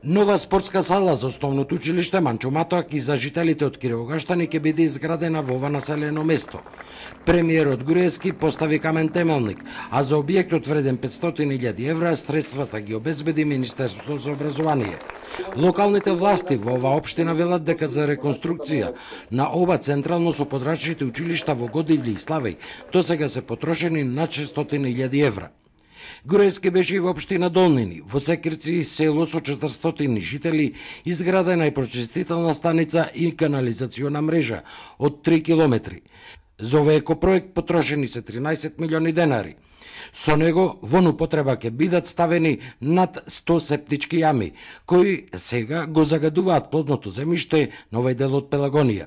Нова спортска сала за основното училиште Манчо Матоак и за жителите од Кировогаштани ќе биде изградена во ова населено место. Премиерот Груевски постави камен темелник, а за објектот вреден 500.000 евра средствата ги обезбеди Министерството за образование. Локалните власти во оваа општина велат дека за реконструкција на оба централно со подрачните училишта во Годивли и Славеј досега се потрошени над 600.000 евра. Груевски беше и во општина Долнини, во Секирци, село со 400 жители, изградена е прочистителна станица и канализациона мрежа од 3 километри. За овој екопроект потрошени се 13 милиони денари. Со него во употреба ќе бидат ставени над 100 септички јами, кои сега го загадуваат плодното земјиште на овој дел од Пелагонија.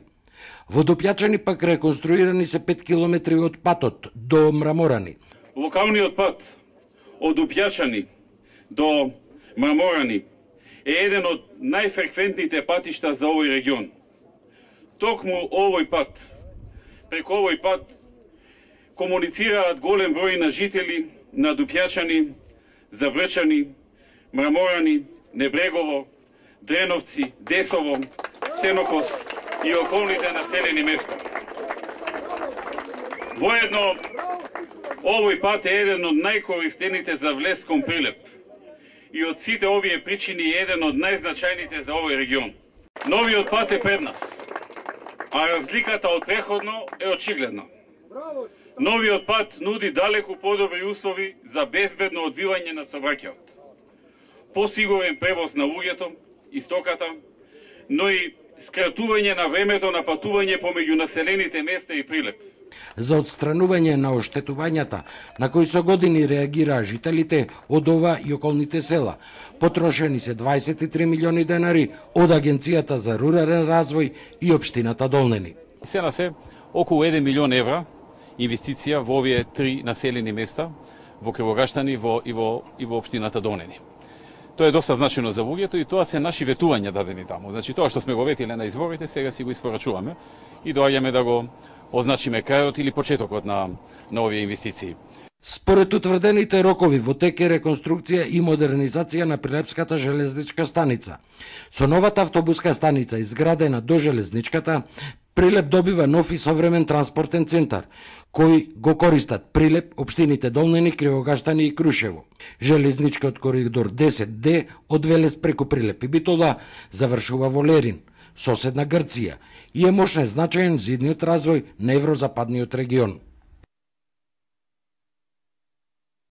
Во Допјачани пак реконструирани се 5 километри од патот до Мраморани. Локалниот пат од Допјачани до Мраморани е еден од најфреквентните патишта за овој регион. Токму овој пат, преку овој пат, комуницираат голем број на жители на Допјачани, Забрчани, Мраморани, Небрегово, Дреновци, Десово, Сенокос и околните населени места. Воедно, овој пат е еден од најкористените за влез кон Прилеп и од сите овие причини е еден од најзначајните за овој регион. Новиот пат е пред нас, а разликата од преходно е очигледна. Новиот пат нуди далеку подобри услови за безбедно одвивање на сообраќајот, посигурен превоз на луѓето и стоката, но и скратување на времето на патување помеѓу населените места и Прилеп. За отстранување на оштетувањата на кои со години реагираа жителите од ова и околните села, потрошени се 23 милиони денари од Агенцијата за рурален развој и општината Долнени. Се на се околу 1 милион евра инвестиција во овие три населени места, во Кривогаштани и во општината Долнени. Тоа е доста значено за луѓето и тоа се наши ветувања дадени таму. Значи тоа што сме го ветиле на изборите, сега си го испорачуваме и доаѓаме да го означиме крајот или почетокот на овие инвестиции. Според утврдените рокови во тек е реконструкција и модернизација на Прилепската железничка станица. Со новата автобуска станица изградена до железничката, Прилеп добива нов и современ транспортен центар, кој го користат Прилеп, општините Долнени, Кривогаштани и Крушево. Железничкиот коридор 10D од Велес преку Прилеп и Битола завршува во Лерин, соседна Грција, и е мощен значаен за идниот развој на еврозападниот регион.